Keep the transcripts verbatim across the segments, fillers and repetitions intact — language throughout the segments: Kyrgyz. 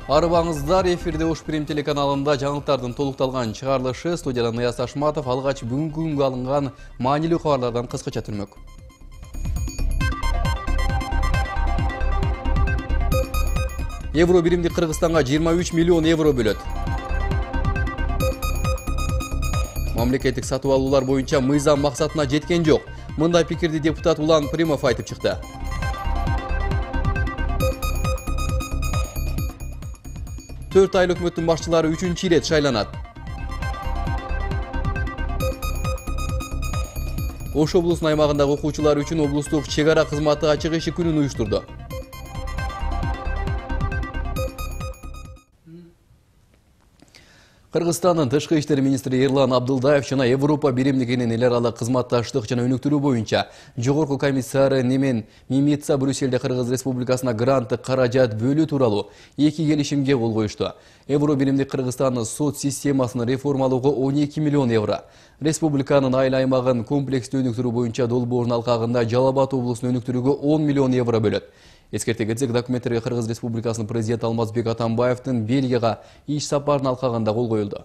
Арыбаңыздар, эфирде Ош Прим телеканалында жаңылыктардын толукталган чыгарылышы. Студиядан Ныяз Ташматов алгач бүгүнкү күнгө алынган маанилүү кабарлардан кыскача түрмөк. Евро биримдик Кыргызстанга жыйырма үч миллион евро бөлөт. Мамлекеттик сатып алуулар боюнча мыйзам максатына жеткен жок. Мындай пикирди депутат Улан Примов айтып чыкты. төрт айлык өкмөттүн башчылары үчүнчү ирет шайланат. Ош облусунун аймагындагы окуучулар үчүн облустук чек ара кызматы ачык эшик күнүн уюштурду. Кыргызстандын тышкы иштер министри Эрлан Абдылдаев жана Европа биримдигинин эл аралык кызматташтык жана өнүктүрүү боюнча жогорку комиссары Немен Мимица Брюссельде Кыргыз Республикасына гранттык каражат бөлүү тууралуу эки келишимге кол коюшту. Евро биримдик Кыргызстандын сот системасын реформалоого он эки миллион евро, республиканын айыл аймагын комплекстүү өнүктүрүү боюнча Долбоордун алкагында Жалал Абад облусун өнүктүрүүгө он миллион евро бөлөт. Эскерте кетсек, документтерге Кыргыз Республикасынын президенти Алмазбек Атамбаевдин Бельгияга иш сапарынын алкагында кол коюлду.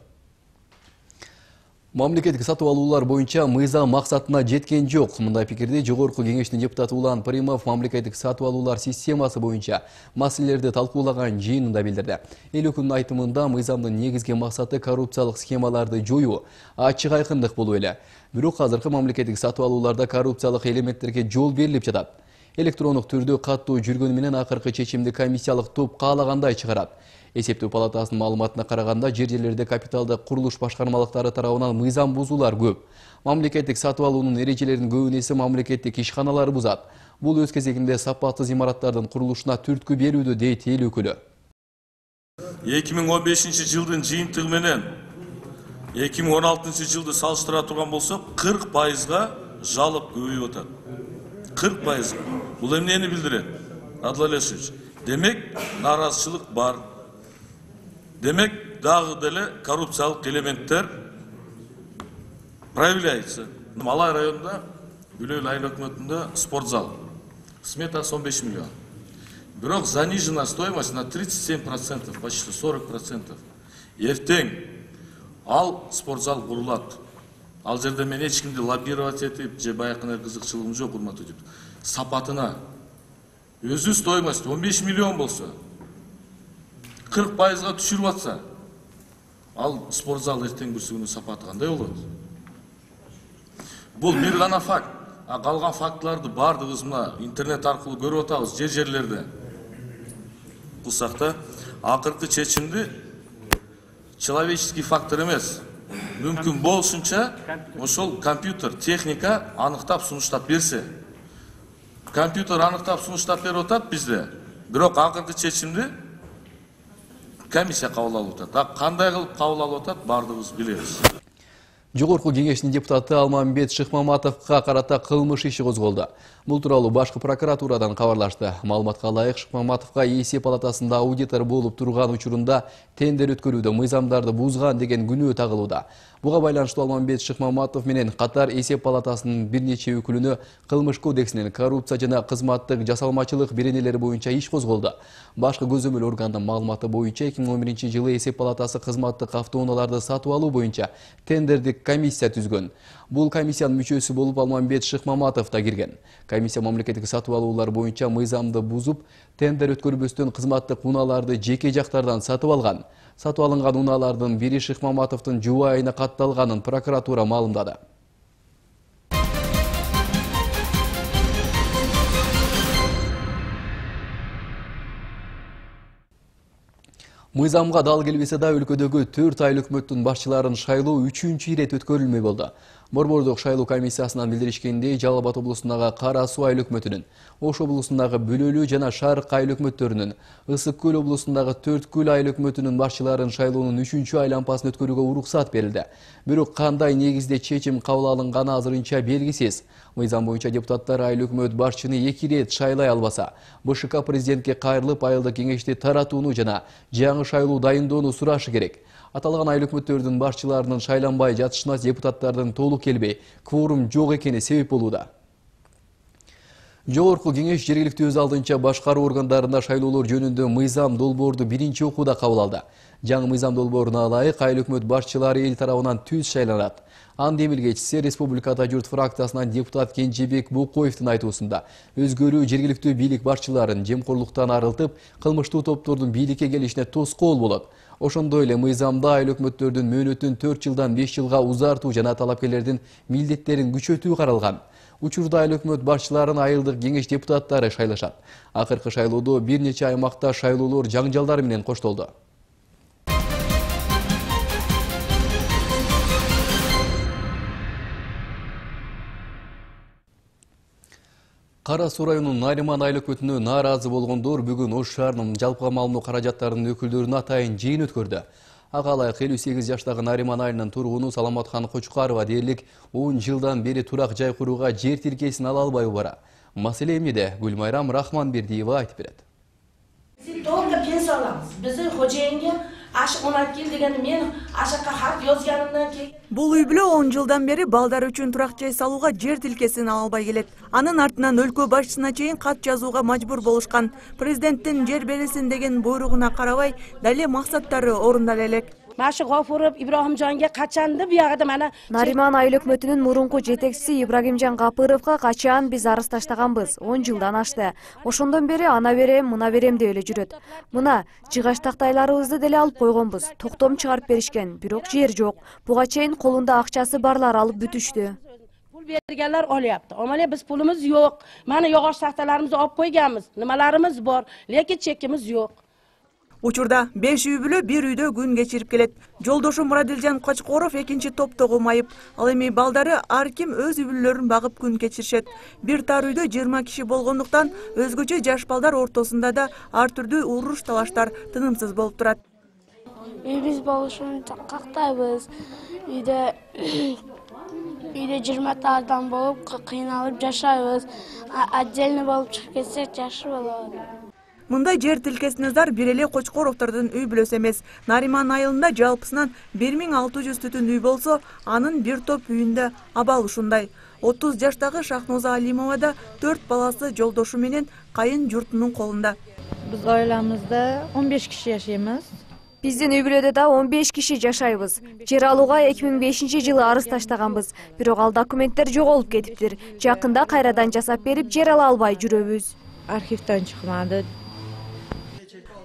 Мамлекеттик сатып алуулар боюнча мыйзам максатына жеткен жок. Мындай пикирди жогорку кеңештин депутаты Улан Примов мамлекеттик сатып алуулар системасы боюнча маселелерди талкуулаган жыйынында билдирди. Эл өкүлүнүн айтымында мыйзамдын негизги максаты коррупциялык схемаларды жоюу, ачык айкындык болуу эле. Бирок азыркы мамлекеттик сатып алууларда коррупциялык элементтерге жол берилип жатат. Электрондук түрдө каттуу жүргөнү менен акыркы чечимди комиссиялык топ каалагандай чыгарат. Эсептөө палатасынын маалыматына караганда, жер жерлерде капиталдык курулуш башкармалыктары тарабынан мыйзам бузуулар көп. Мамлекеттик сатып алуунун эрежелеринин көбүнесе мамлекеттик ишканалар бузат. Бул өз кезегинде сапатсыз имараттардын курулушуна түрткү берүүдө, дейт эл өкүлү. эки миң он бешинчи жылдын жыйынтыгы менен эки миң он алтынчы жылды салыштыра турган болсок, кырк пайызга жалоп көбөйүп атат. кырк пайыз. Бул эмнени билдирет? Адлан Алешевич. Демек, наразычылык бар. Демек, дагы деле коррупциялык элементтер проявляется. Малай районунда, Үлөл айыл өкмөтүндө спортзал. Сметасы он беш миллион. Бирок занижена стоимость на тридцать семь процентов, почти сорок процентов. Эртең ал спортзал курулат. Ал жерде мен эч кимди лоббировать этип, же баякындай кызыкчылыгым жок, урматтуу деп. Сапатына өзү стоимость он беш миллион болсо, кырк пайызга түшүрүп атса, ал спортзал эртең бүрсүгүнүн сапаты кандай болот? Бул бир гана факт. А калган фактыларды бардыгыбыз мына интернет аркылуу көрүп атабыз, жер жерлерде. Кылсак да, акыркы чечимди человеческий фактор эмес, мүмкүн болушунча ошол компьютер, техника аныктап сунуштап берсе. Компьютер аныктап сунуштап берип атат бизде. Бирок акыркы чечимди комиссия кабыл алып атат. А кандай кылып кабыл алып атат, бардыгыбыз билебиз. Жогорку кеңештин депутаты Алмамбет Шыкмаматовго карата кылмыш иши козголду. Бул тууралуу башкы прокуратурадан кабарлашты. Маалыматка ылайык, Шыкмаматовго эсеп палатасында аудитор болуп турган учурунда тендер өткөрүүдө мыйзамдарды бузган деген күнөө тагылууда. Буга байланыштуу Алмамбет Шыкмаматов менен катар эсеп палатасынын бир нече өкүлүнө кылмыш кодексинин коррупция жана кызматтык жасалмачылык беренелери боюнча иш козголду. Башкы көзөмөл органдын маалыматы боюнча эки миң он биринчи жылы эсеп палатасы кызматтык автоунааларды сатып алуу боюнча тендердик комиссия түзгөн. Бул комиссиянын мүчөсү болуп Алмамбет Шыкмаматов да кирген. Комиссия мамлекеттик сатып алуулар боюнча мыйзамды бузуп, тендер өткөрбөстөн кызматтык унааларды жеке жактардан сатып алган. Сатып алынган унаалардын бири Шыкмаматовдун жубайына катталганын прокуратура маалымдады. Мыйзамга дал келбесе да өлкөдөгү төрт айыл өкмөттүн башчыларын шайлоо үчүнчү ирет өткөрүлмөй болду. Борбордук шайлоо комиссиясынан билдиришкендей, Жалал Абад облусундагы Кара Суу айыл өкмөтүнүн, Ош облусундагы Бөлөлүү жана Шарык айыл өкмөттөрүнүн, Ысык Көл облусундагы Төрт Көл айыл өкмөтүнүн башчыларын шайлоонун үчүнчү айлампасын өткөрүүгө уруксат берилди. Бирок кандай негизде чечим кабыл алынганы азырынча белгисиз. Мыйзам боюнча депутаттар айыл өкмөт башчыны эки ирет шайлай албаса, БШК президентке кайрылып айылдык кеңешти таратууну жана жаңы шайлоо дайындоону сурашы керек. Аталган айыл өкмөттөрдүн башчыларынын шайланбай жатышына депутаттардын толук келбей, кворум жок экени себеп болууда. Жогорку кеңеш жергиликтүү өз алдынча башкаруу органдарына шайлоолор жөнүндө мыйзам долбоорду биринчи окууда кабыл алды. Жаңы мыйзам долбооруна ылайык айыл өкмөт башчылары эл тарабынан түз шайланат. Аны эмилгечиси Республикада журт фракциясынан депутат Кенжебек Букоевдун айтуусунда өзгөрүү жергиликтүү бийлик башчыларын жемкорлуктан арылтып, кылмыштуу топтордун бийликке келишине тоскоол болот. Ошондой эле мыйзамда айыл өкмөттөрдүн мөөнөтүн төрт жылдан беш жылга узартуу жана талапкерлердин милдеттерин күчөтүү каралган. Учурда айыл өкмөт башчыларын айылдык кеңеш депутаттары шайлашат. Акыркы шайлоодо бир нече аймакта шайлоолор жаңжалдар менен коштолду. Кара Суу районунун Нариман айыл өкмөтүнө нааразы болгондор бүгүн Ош шаарынын жалпыга маалыматтоо каражаттарынын өкүлдөрүнө атайын жыйын өткөрдү. Ага ылайык элүү сегиз жаштагы Нариман айылынын тургуну Саламатхан Кочкарова дээрлик он жылдан бери турак жай курууга жер тилкесин ала албай бара. Маселе эмнеде? Гүлмайрам Рахманбердиева айтып берет. Только пенсия аламыз. Биздин хожоенге аш он алты эл дегенди мен ашакка хат жазганымдан кийин бул үй бүлө он жылдан бери балдар үчүн турак жай салууга жер тилкесин ала албай келет. Анын артынан өлкө башчысына чейин кат жазууга мажбур болушкан. Президенттин жер берилсин деген буйругуна карабай, дале максаттары орундала элек. Машы Гафуров Ибрагимжанга качанды биягыда мана Нариман айыл өкмөтүнүн мурунку жетекчиси Ибрагимжан Гапыровго качан биз арыз таштаганбыз. он жылдан ашты. Ошондон бери ана берем, мына берем деп эле жүрөт. Мына жыгач тактайларыбызды деле алып койгонбуз. Токтом чыгарып беришкен, бирок жер жок. Буга чейин колунда акчасы барлар алып бүтүштү. Pul berganlar olyapti. Ammo biz pulimiz yo'q. Mana yog'och taxtalarimizni olib qo'yganmiz. Nimalarimiz bor, lekin chekimiz yo'q. Учурда беш үй бүлө бир үйдө күн кечирип келет. Жолдошу Мурадилжан Кочкоров экинчи топтогу майып. Ал эми балдары ар ким өз үй бүлөлөрүн багып күн кечиришет. Бир тар үйдө жыйырма киши болгондуктан өзгөчө жаш балдар ортосунда да ар түрдүү уруш талаштар тынымсыз болуп турат. Биз болушун кактайбыз. Үйдө үйдө жыйырма адам болуп кыйналып жашайбыз. Отдельно болуп чыгып кетсек жакшы болот. Мындай жер тилкесине зар бир эле Кочкоровдордун үй бүлөсү эмес. Нариман айылында жалпысынан бир миң алты жүз түтүн үй болсо, анын бир топ үйүндө абал ушундай. отуз жаштагы Шахноза Алимова да төрт баласы жолдошу менен кайын журтунун колунда. Биз айлабызда он беш киши жашайбыз. Биздин үй бүлөдө да он беш киши жашайбыз. Жер алууга эки миң бешинчи жылы арыз таштаганбыз. Бирок ал документтер жоголуп кетиптир. Жакында кайрадан жасап берип жер ала албай жүрөбүз. Архивден чыкмады.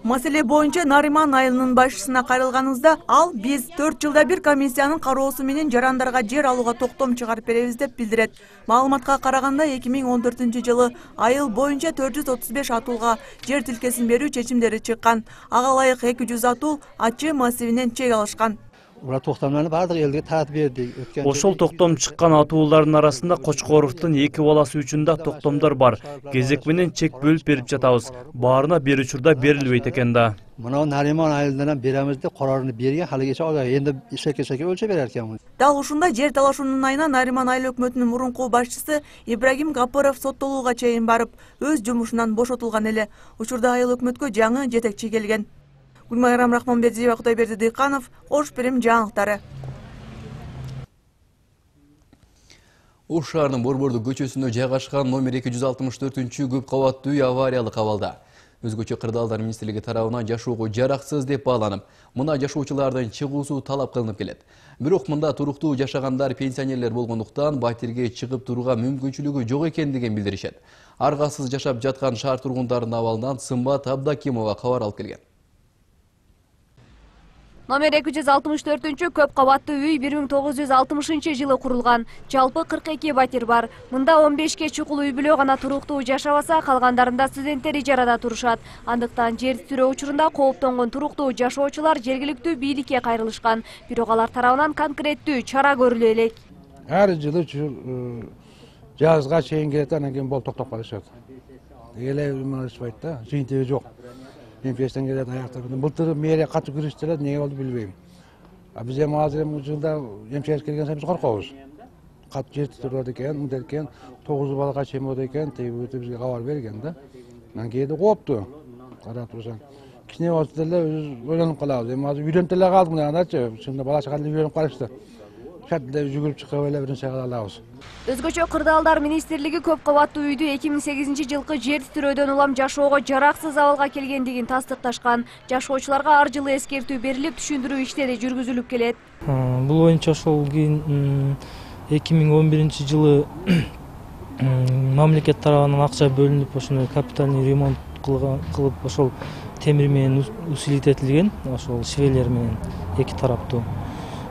Маселе боюнча Нариман айылынын башчысына кайрылганыбызда, ал биз төрт жылда бир комиссиянын кароосу менен жарандарга жер алууга токтом чыгарып беребиз деп билдирет. Маалыматка караганда эки миң он төртүнчү жылы айыл боюнча төрт жүз отуз беш атуулга жер тилкесин берүү чечимдери чыккан. Ага ылайык эки жүз атуу Ачы массивинен чек алышкан. Ура токтомдорду баардык элге таратып бердик. Ошол токтом чыккан атуулардын арасында Кочкоровдун эки баласы үчүн да токтомдор бар. Кезек менен чек бөлүп берип жатабыз. Баарына бир учурда берилбейт экен да. Мына Нариман айылынан беребиз деп карарны берген, халыгача алар энди шеке-шеке өлчө берер экен. Дал ушундай жер талашуунун айынан Нариман айыл өкмөтүнүн мурунку башчысы Ибрагим Гапыров соттолууга чейин барып, өз жумушунан бошотулган эле. Учурда айыл өкмөткө жаңы жетекчи келген. Гүлмайрам Рахманбердиева, Кудайберди Дыйканов, Ош Перим жаңылыктары. Ош шаарынын Борбордук көчөсүндө жайгашкан номер эки жүз алтымыш төртүнчү көп кабаттуу үй авариялык абалда. Өзгөчө кырдаалдар министрлиги тарабынан жашоого жараксыз деп бааланып, мына жашоочулардын чыгуусу талап кылынып келет. Бирок мында туруктуу жашагандар пенсионерлер болгондуктан батирге чыгып турууга мүмкүнчүлүгү жок экендигин билдиришет. Аргасыз жашап жаткан шаар тургундарынын абалынан Сымбат Абдакимова кабар алып келген. Номер эки жүз алтымыш төртүнчү көп кабаттуу үй бир миң тогуз жүз алтымышынчы жылы курулган. Жалпы кырк эки батир бар. Мында он бешке чукул үй бүлө гана туруктуу жашабаса, калгандарында студенттер ижарада турушат. Андыктан жер титирөө учурунда кооптонгон туруктуу жашоочулар жергиликтүү бийликке кайрылышкан. Бирок алар тарабынан конкреттүү чара көрүлө элек. Ар жылы жазга чейин келет, анан кийин болуп токтоп калышат. Эле умалышпайт да, жыйынтыгы жок. Инфекциядан келет аяктар. Былтыр мэрия катуу күрөштүрөт, эмне болду билбейм. А биз эми азыр эми жылда эмчек келген сайын биз коркобуз. Кат жер титирет экен, мындай экен, тогуз балага чейин болот экен, тиги бизге кабар берген да. Анан кээде коопту. Карап турсаң, кичине болсо деле өзүбүз ойлонуп калабыз. Эми азыр үйрөнүп деле калдык мына андачы, чынында бала чака деле үйрөнүп калышты. шартта жүгүрүп чыгып эле бир нерсе кыла алабыз. Өзгөчө Кырдаалдар министрлиги көп кабаттуу үйдү эки миң сегизинчи жылкы жер титирөөдөн улам жашоого жараксыз абалга келгендигин тастыкташкан. Жашоочуларга ар жылы эскертүү берилип, түшүндүрүү иштери жүргүзүлүп келет. Бул боюнча ошол кийин эки миң он биринчи жылы мамлекет тарабынан акча бөлүнүп, ошондой капитальный ремонт кылып, ошол темир менен усилить этилген, ошол швелер менен эки тараптуу.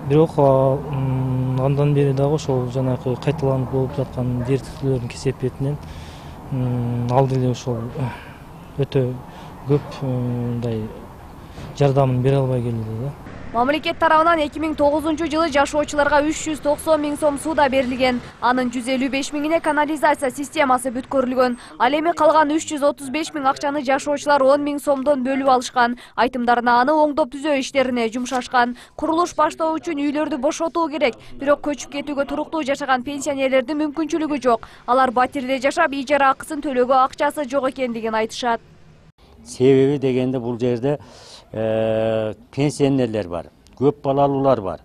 Бирок андан бери дагы ошол жанагы кайталанып болуп жаткан жер титирөөлөрдүн кесепетинен алды эле ошол өтө көп мындай жардамын бере албай келди да. Мамлекет тарабынан эки миң тогузунчу жылы жашоочуларга үч жүз токсон миң сом суда берилген. Анын жүз элүү беш миңине канализация системасы бүткөрүлгөн. Ал эми калган үч жүз отуз беш миң акчаны жашоочулар он миң сомдон бөлүп алышкан. Айтымдарына аны оңдоп түзөө иштерине жумшашкан. Курулуш баштоо үчүн үйлөрдү бошотуу керек. Бирок көчүп кетүүгө туруктуу жашаган пенсионерлердин мүмкүнчүлүгү жок. Алар батирде жашап, ижара акысын төлөөгө акчасы жок экендигин айтышат. Себеби дегенде бул жерде пенсионерлер бар, көп балалуулар бар.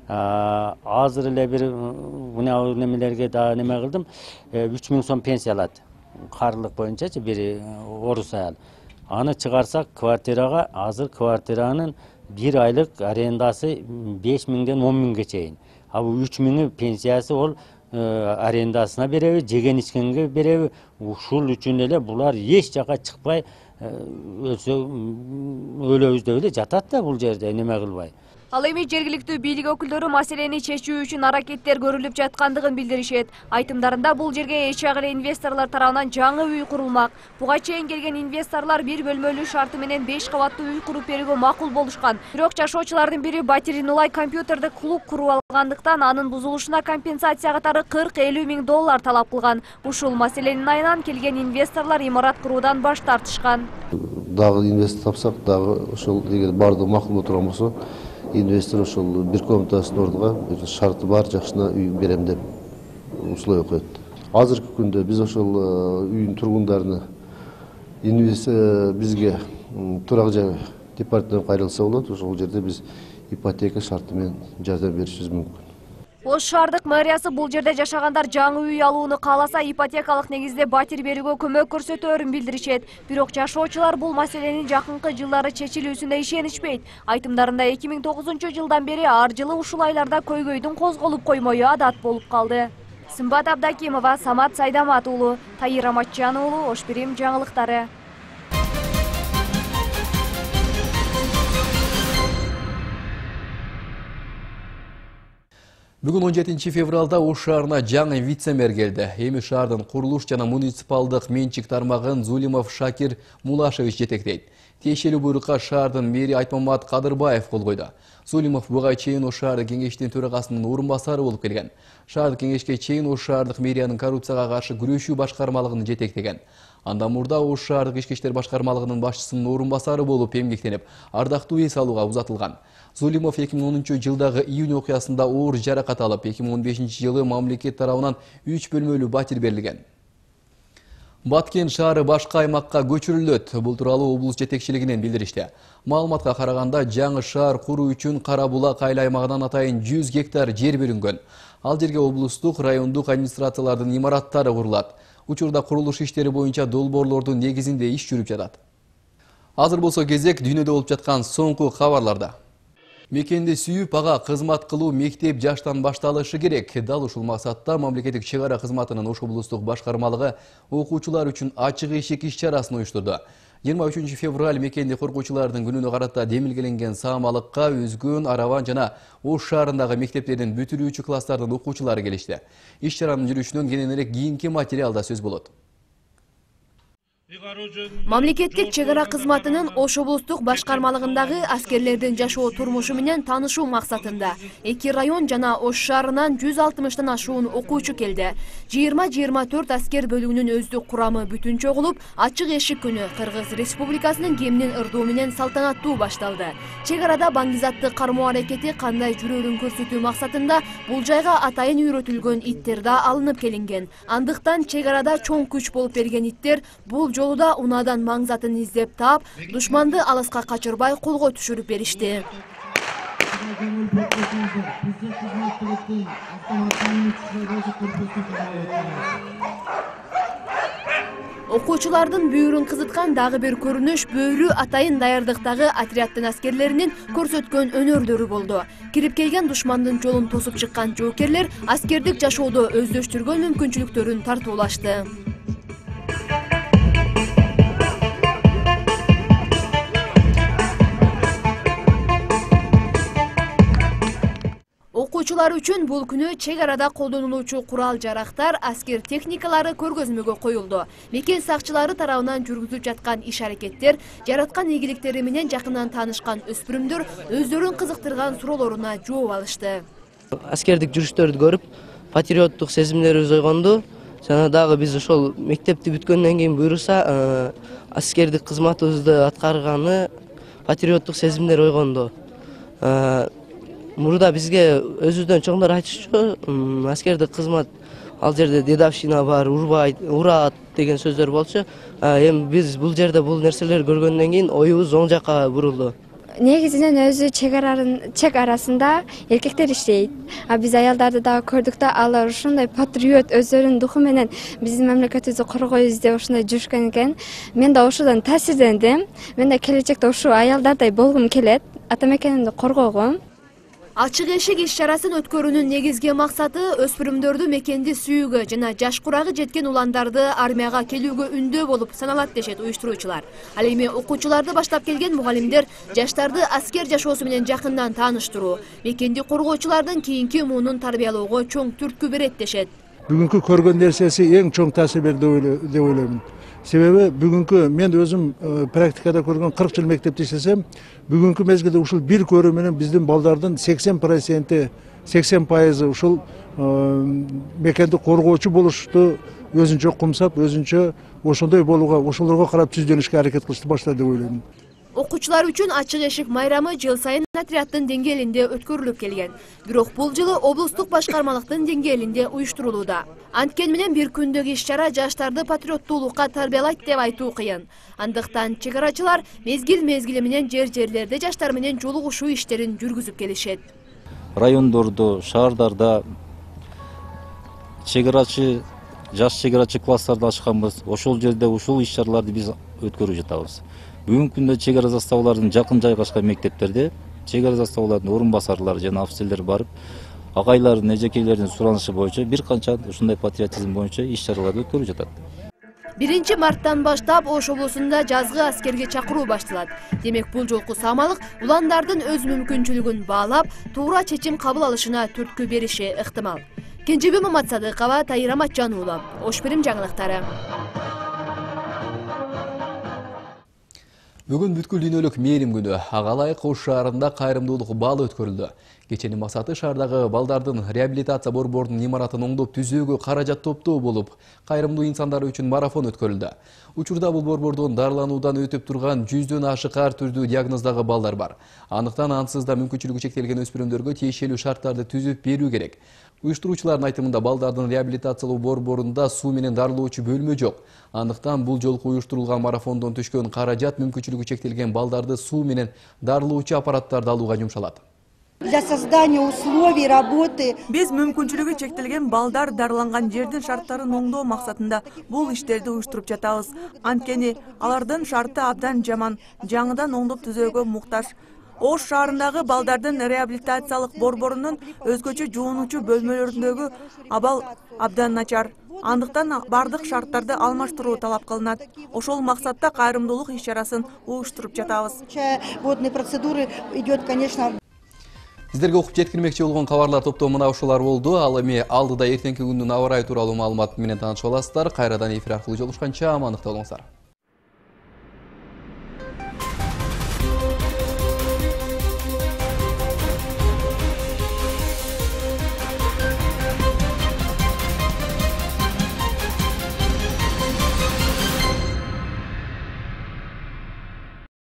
Азыр эле бир мына немелерге да неме кылдым, үч миң сом пенсия алат. Карлык боюнчачы бир орус аял. Аны чыгарсак квартирага, азыр квартиранын бир айлык арендасы беш миңден он миңге чейин. А бул үч миңи пенсиясы ол арендасына береби, жеген ичкенге береби. Ушул үчүн эле булар эч жака чыкпай өлсө өлөбүз деп эле жатат да бул жерде неме кылбай. Ал эми жергиликтүү бийлик өкүлдөрү маселени чечүү үчүн аракеттер көрүлүп жаткандыгын билдиришет. Айтымдарында бул жерге эч агыле инвесторлор тарабынан жаңы үй курулмак. Буга чейин келген инвесторлор бир бөлмөлүү шарты менен беш кабаттуу үй куруп берүүгө макул болушкан. Бирок жашоочулардын бири батирин улай компьютердик клуб куруп алгандыктан анын бузулушуна компенсация катары кырк элүү миң доллар талап кылган. Ушул маселенин айынан келген инвесторлор имарат куруудан баш тартышкан. Дагы инвестор тапсак, дагы ошол эгер бардыгы макул боло турган болсо, инвестор ошол бир комнатасын ордуга шарты бар жакшына үй берем деп условия коет. Азыркы күндө биз ошол үйдүн тургундарына бизге турак жай департамент кайрылса болот. Ошол жерде биз ипотека шарты менен жардам беришибиз мүмкүн. Ош шаардык мэриясы бул жерде жашагандар жаңы үй алууну кааласа ипотекалык негизде батир берүүгө көмөк көрсөтөөрүн билдиришет. Бирок жашоочулар бул маселенин жакынкы жылдары чечилүүсүнө ишенишпейт. Айтымдарында эки миң тогузунчу жылдан бери ар жылы ушул айларда көйгөйдүн козголуп коймою адат болуп калды. Сымбат Абдакимова, Самат Сайдамат уулу, Тайыр Аматжан уулу, Ош Бирим жаңылыктары. Бүгүн он жетинчи февралда Ош шаарына жаңы вице-мэр келди. Эми шаардын курулуш жана муниципалдык менчик тармагын Зулимов Шакир Мулашевич жетектейт. Тиешелүү буйрукка шаардын мэри Айтмамат Кадырбаев кол койду. Зулимов буга чейин Ош шаардык кеңештин төрагасынын орун басары болуп келген. Шаардык кеңешке чейин Ош шаардык мэриянын коррупцияга каршы күрөшүү башкармалыгын жетектеген. Андан мурда Ош шаардык ички иштер башкармалыгынын башчысынын орун басары болуп эмгектенип, ардактуу эс алууга узатылган. Зулимов эки миң онунчу жылдагы июнь окуясында оор жаракат алып, эки миң он бешинчи жылы мамлекет тарабынан үч бөлмөлүү батир берилген. Баткен шаары башка аймакка көчүрүлөт. Бул тууралуу облус жетекчилигинен билдиришти. Маалыматка караганда, жаңы шаар куруу үчүн Кара Булак айыл аймагынан атайын жүз гектар жер бөлүнгөн. Ал жерге облустук, райондук администрациялардын имараттары курулат. Учурда курулуш иштери боюнча долбоорлордун негизинде иш жүрүп жатат. Азыр болсо кезек дүйнөдө болуп жаткан соңку кабарларда. Мекенди сүйүп, ага кызмат кылуу мектеп жаштан башталышы керек. Дал ушул максатта мамлекеттик чек ара кызматынын Ош облустук башкармалыгы окуучулар үчүн ачык эшик иш-чарасын уюштурду. жыйырма үчүнчү февраль мекенди коргоочулардын күнүнө карата демилгеленген саамалыкка Үзгүн, Араван жана Ош шаарындагы мектептердин бүтүрүүчү класстардын окуучулары келишти. Иш-чаранын жүрүшүнөн кененирээк кийинки материалда сөз болот. Мамлекеттик чек ара кызматынын Ош облустук башкармалыгындагы аскерлердин жашоо турмушу менен таанышуу максатында эки район жана Ош шаарынан жүз алтымыштан ашуун окуучу келди. жыйырма жыйырма төрт аскер бөлүгүнүн өздүк курамы бүтүн чогулуп, ачык эшик күнү Кыргыз Республикасынын кеминин ырдоо менен салтанаттуу башталды. Чек арада баңгизатты кармоо аракети кандай жүрөөрүн көрсөтүү максатында бул жайга атайын үйрөтүлгөн иттер да алынып келинген. Андыктан чек арада чоң күч болуп берген иттер бул жолуда унаадан маңзатын издеп таап, душманды алыска качырбай колго түшүрүп беришти. Окуучулардын бүйүрүн кызыткан дагы бир көрүнүш бөөрү атайын даярдыктагы отряддын аскерлеринин көрсөткөн өнөрлөрү болду. Кирип келген душмандын жолун тосуп чыккан жоокерлер аскердик жашоодо өздөштүргөн мүмкүнчүлүктөрүн тартуулашты. Окуучулар үчүн бул күнү чек арада колдонулуучу курал-жарактар, аскер техникалары көргөзмөгө коюлду. Мекен сакчылары тарабынан жүргүзүп жаткан иш-аракеттер, жараткан ийгиликтери менен жакындан таанышкан өспүрүмдөр өздөрүн кызыктырган суроолоруна жооп алышты. Аскердик жүрүштөрдү көрүп, патриоттук сезимдерибиз ойгонду. Жана дагы биз ошол мектепти бүткөндөн кийин буюрса, аскердик кызматыбызды аткарганы патриоттук сезимдер ойгонду. Мурда бизге өзүбүздөн чоңдор айтышчу, аскердик кызмат ал жерде дедовщина бар, урбайт, урат деген сөздөр болчу. Эми биз бул жерде бул нерселерди көргөндөн кийин оюбуз оң жакка бурулду. Негизинен өзү чек арасында эркектер иштейт. А биз аялдарды дагы көрдүк да, алар ушундай патриот өздөрүнүн духу менен биздин мамлекетибизди коргойбуз деп ушундай жүрүшкөн экен. Мен да ошодон таасирдендим. Мен да келечекте ушул аялдардай болгум келет, ата мекенимди коргогум. Ачык эшик иш-чарасын өткөрүүнүн негизги максаты өспүрүмдөрдү мекенди сүйүүгө жана жаш курагы жеткен уландарды армияга келүүгө үндөө болуп саналат дешет уюштуруучулар. Ал эми окуучуларды баштап келген мугалимдер жаштарды аскер жашоосу менен жакындан тааныштыруу, мекенди коргоочулардын кийинки муунун тарбиялоого чоң түрткү берет дешет. Бүгүнкү көргөн нерсеси эң чоң таасир берди деп ойлоймун. Себеби бүгүнкү мен өзүм практикада көргөн кырк жыл мектепте иштесем, бүгүнкү мезгилде ушул бир көрүү менен биздин балдардын сексен проценти, сексен пайызы ушул мекенди коргоочу болушту, өзүнчө кумсап, өзүнчө ошондой болууга, ошолорго карап түздөнүшкө аракет кылышты баштады деп ойлоймун. Окуучулар үчүн ачык эшик майрамы жыл сайын отряддын деңгээлинде өткөрүлүп келген. Бирок бул жылы облустук башкармалыктын деңгээлинде уюштурулууда. Анткени менен бир күндөгү иш-чара жаштарды патриоттуулукка тарбиялайт деп айтуу кыйын. Андыктан чек арачылар мезгил-мезгили менен жер-жерлерде жаштар менен жолугушуу иштерин жүргүзүп келишет. Райондордо, шаардарда чек арачы, жаш чек арачы класстарды ачканбыз. Ошол жерде ушул иш-чараларды биз өткөрүп жатабыз. Бүгүнкү күндө чек ара заставалардын жакын жайгашкан мектептерде чек ара заставалардын орун басарлары жана офицерлер барып, агайлардын, эжекейлердин суранышы боюнча бир канча ушундай патриотизм боюнча иш-чараларды өткөрүп жатат. биринчи марттан баштап Ош облусунда жазгы аскерге чакыруу башталат. Демек бул жолку самалык уландардын өз мүмкүнчүлүгүн баалап, туура чечим кабыл алышына түрткү бериши ыктымал. Кенжебек Маматсадыкова, Тайыр Аматжан уулу, Ош Бирим жаңылыктары. Бүгүн бүткүл дүйнөлүк мээрим күнү. Ага ылайык Ош шаарында кайрымдуулук балы өткөрүлдү. Кеченин максаты шаардагы балдардын реабилитация борборунун имаратын оңдоп түзүүгө каражат топтоо болуп, кайрымдуу инсандар үчүн марафон өткөрүлдү. Учурда бул борбордон дарылануудан өтүп турган жүздөн ашык ар түрдүү диагноздагы балдар бар. Андыктан ансыз да мүмкүнчүлүгү чектелген өспүрүмдөргө тиешелүү шарттарды түзүп берүү керек. Уюштуруучулардын айтымында балдардын реабилитациялоо борборунда суу менен дарылоочу бөлмө жок. Андыктан бул жолку уюштурулган марафондон түшкөн каражат мүмкүнчүлүгү чектелген балдарды суу менен дарылоочу аппараттарды алууга жумшалат. Для создания условий работы. Биз мүмкүнчүлүгү чектелген балдар дарыланган жердин шарттарын оңдоо максатында бул иштерди уюштуруп жатабыз. Анткени алардын шарты абдан жаман, жаңыдан оңдоп түзөөгө муктаж. Ош шаарындагы балдардын реабилитациялык борборунун өзгөчө жуунуучу бөлмөлөрүндөгү абал абдан начар. Андыктан бардык шарттарды алмаштыруу талап кылынат. Ошол максатта кайрымдуулук иш-чарасын уюштуруп жатабыз. Водные процедуры идет, конечно. Сиздерге окуп жеткирмекчи болгон кабарлар топтоо мына ушулар болду. Ал эми алдыда эртеңки күндүн аба ырайы тууралуу маалымат менен таанышып аласыздар. Кайрадан эфир аркылуу жолугушканча амандыкта болуңуздар.